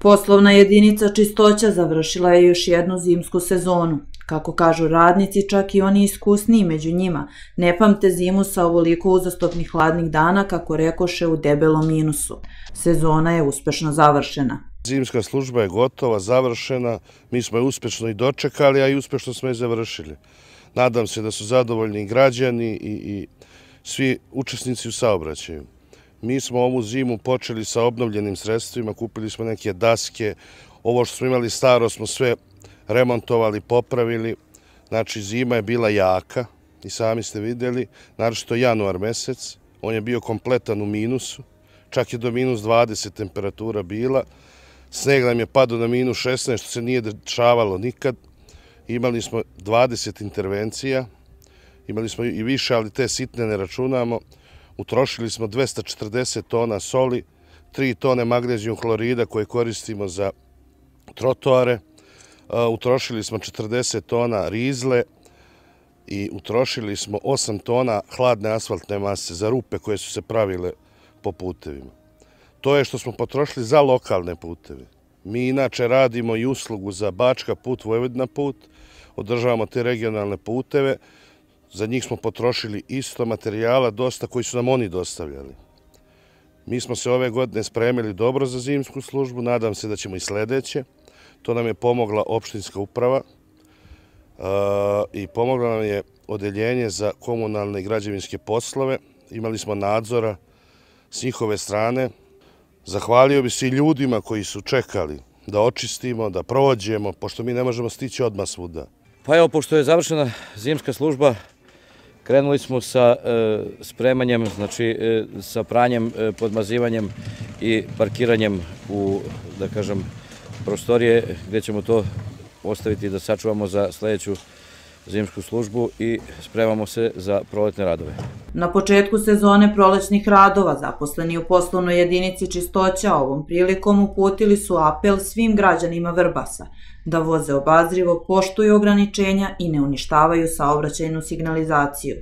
Poslovna jedinica Čistoća završila je još jednu zimsku sezonu. Kako kažu radnici, čak i oni iskusniji među njima ne pamte zimu sa ovoliko uzastopnih hladnih dana, kako rekoše, u debelom minusu. Sezona je uspešno završena. Zimska služba je gotova, završena, mi smo je uspešno i dočekali, a i uspešno smo je završili. Nadam se da su zadovoljni i građani i svi učesnici u saobraćaju. Mi smo ovu zimu počeli sa obnovljenim sredstvima, kupili smo neke daske, ovo što smo imali staro smo sve remontovali, popravili. Znači, zima je bila jaka i sami ste vidjeli, naročito januar mesec, on je bio kompletan u minusu, čak je do minus 20 temperatura bila, sneg nam je padao na minus 16, što se nije dešavalo nikad. Imali smo 20 intervencija, imali smo i više, ali te sitne ne računamo. Utrošili smo 240 tona soli, 3 tone magnezijum hlorida koje koristimo za trotoare, utrošili smo 40 tona rizle i utrošili smo 8 tona hladne asfaltne mase za rupe koje su se pravile po putevima. To je što smo potrošili za lokalne puteve. Mi inače radimo i uslugu za Bačka put, Vojvodina put, održavamo te regionalne puteve. Za njih smo potrošili isto materijala, dosta koji su nam oni dostavljali. Mi smo se ove godine spremili dobro za zimsku službu, nadam se da ćemo i sledeće. To nam je pomogla opštinska uprava i pomogla nam je odeljenje za komunalne i građevinske poslove. Imali smo nadzora s njihove strane. Zahvalio bi se i ljudima koji su čekali da očistimo, da prođemo, pošto mi ne možemo stići odmah svuda. Pa evo, pošto je završena zimska služba, krenuli smo sa spremanjem, znači sa pranjem, podmazivanjem i parkiranjem u, da kažem, prostorije gdje ćemo to ostaviti da sačuvamo za sledeću zimsku službu i spremamo se za proletne radove. Na početku sezone prolećnih radova zaposleni u poslovnoj jedinici Čistoća ovom prilikom uputili su apel svim građanima Vrbasa da voze obazrivo, poštuju ograničenja i ne uništavaju saobraćajnu signalizaciju.